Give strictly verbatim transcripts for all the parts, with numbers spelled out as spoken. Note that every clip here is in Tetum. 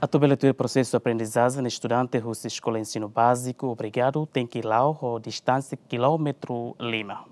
Atu bele tuir prosesu aprendizajen, estudante husi eskola ensinu báziku obrigadu tenke la'o ho distánsia kilómetru lima.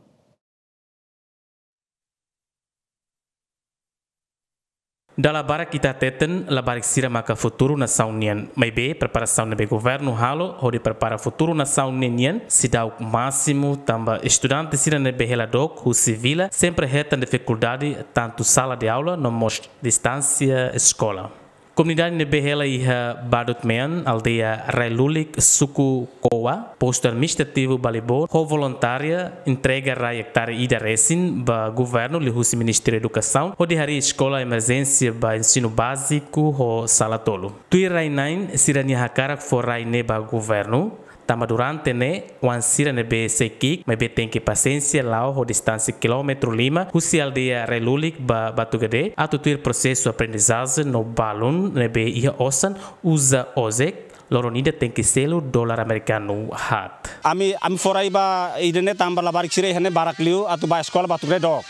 Dala barak ita hateten, labarik sira maka futuru nasaun nian. Maibé, preparasaun ne'ebé governu halo hodi prepara futuru nasaun ne'e nian seidauk másimu, tanba estudante sira ne'ebé hela dook husi vila sempre hetan difikuldade tantu sala de aula no mós distánsia eskola. Komunidade ne'ebé hela iha Badut Mean, aldeia Rai Lulik, suku Koa, postu administrativu Balibor, ho voluntáriu entrega rai ektare ida resin ba governu liuhusi Ministériu Edukasaun, hodi harii eskola emerjénsia ba ensinu báziku ho sala tolu. Tuir rai-na'in sira-nia hakarak fó rai ne'e ba governu, tanba durante ne'e, oan sira ne'ebé sei ki'ik, maibé tenke pasiénsia la'o ho distánsia kilómetru lima, husi aldeia Rai Lulik ba Batugade, atu tuir prosesu aprendizajen no balun ne'ebé iha osan uza ojek, loron ida tenke selu dolar amerikanu haat. Ami, ami fó rai ba ida-ne'e tanba labarik sira iha ne'e barak liu atu bá eskola Batugade dook.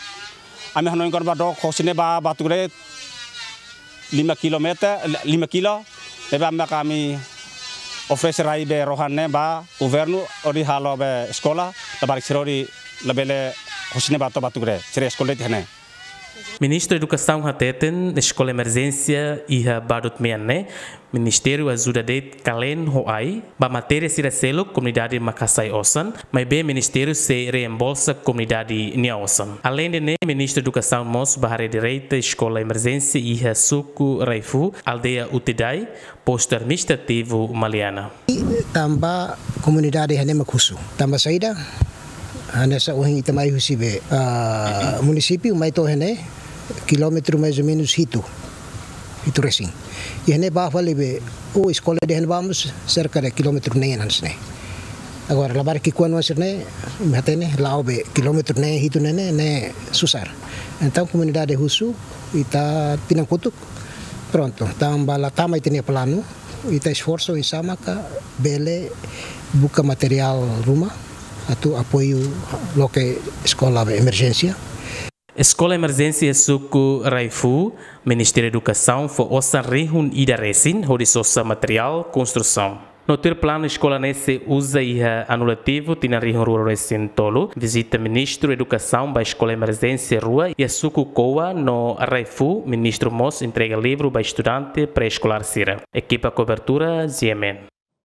Ami hanoin kona-ba dook hosi ne'e bá Batugade lima kilometer, lima kilo. Ne'ebé ami, ami oferese rai be rohan ne'e ba governu hodi halo be eskola, labarik sira hodi labele hosi ne'e bá to'o Batugade, sira eskola de'it iha ne'e. Ministru Edukasaun hateten, eskola emerjénsia iha Badut Mean ne'e, Ministériu ajuda de'it kalen ho ai, ba matéria sira seluk komunidade mak hasai osan, maibé Ministériu sei reembolsa komunidade nia osan. Aleinde ne'e, Ministru Edukasaun mós bá haree direta eskola emerjénsia iha suku Raifu, aldeia Utidai, postu administrativu Maliana. Tanba komunidade iha ne'e mak husu. Tanba saida, hanesan ohin ita mai husi be, ah, munisípiu mai to'o iha ne'e, kilómetru mais ou menus hitu. Hitu resin. Iha ne'e bá fali be, o eskola dehan vamos cerca de kilómetru neen hanesan ne'e. Agora, labarik ki'ikoan oan sira-ne'e, imi hatene, la'o be kilómetru neen hitu ne'e, ne'e, ne'e susar. Entaun, komunidade husu, ita tinan kotuk, prontu, tanba la tama ita-nia planu, ita esforsu oinsá maka bele buka materiál ruma, atu apoiu loke eskola be emerjénsia. Eskola emerjénsia suku Raifu, Ministériu Edukasaun fó osan rihun ida resin hodi sosa materiál konstrusaun. No tuir planu eskola ne'e sei uza iha anu letivu tinan rihun rua ruanulu resin tolu, vizita Ministru Edukasaun ba eskola emerjénsia rua iha suku Koa no Raifu, Ministru mós entrega livru ba estudante pré-eskolár sira. Ekipa kobertura, G M N.